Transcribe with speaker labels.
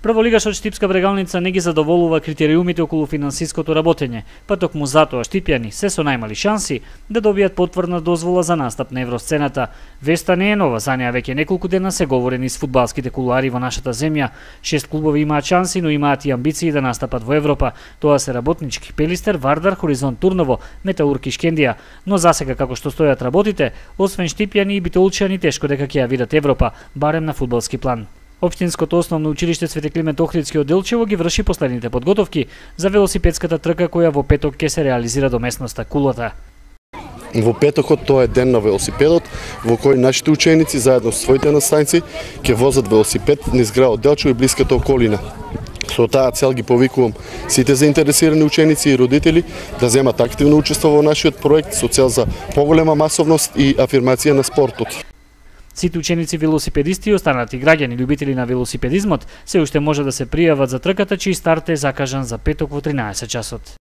Speaker 1: Прволигашот Штипска Брегалница не ги задоволува критериумите околу финансиското работење, па токму затоа штипјани се со најмали шанси да добијат потврдна дозвола за настап на евросцената. Веста не е нова, за неа веќе неколку дена се говори низ фудбалските кулуари во нашата земја. 6 клубови имаат шанси, но имаат и амбиции да настапат во Европа. Тоа се Работнички, Пелистер, Вардар, Хоризонт Турново, Металург и Шкендија. Но засега како што стојат работите, освен штипјани и битолчани тешко дека ќе ја видат Европа, барем на фудбалски план. Општинското основно училиште Свети Климент Охридски од Делчево ги врши последните подготовки за велосипедската трка која во петок ќе се реализира до местноста Кулата.
Speaker 2: Во петокот тоа е ден на велосипедот, во кој нашите ученици заедно со своите наставници ќе возат велосипед низ градот Делчево и блиската околина. Со таа цел ги повикувам сите заинтересирани ученици и родители да земат активно учество во нашиот проект со цел за поголема масовност и афирмација на спортот.
Speaker 1: Сите ученици велосипедисти и останати граѓани љубители на велосипедизмот се уште може да се пријават за трката чиј старт е закажан за петок во 13 часот.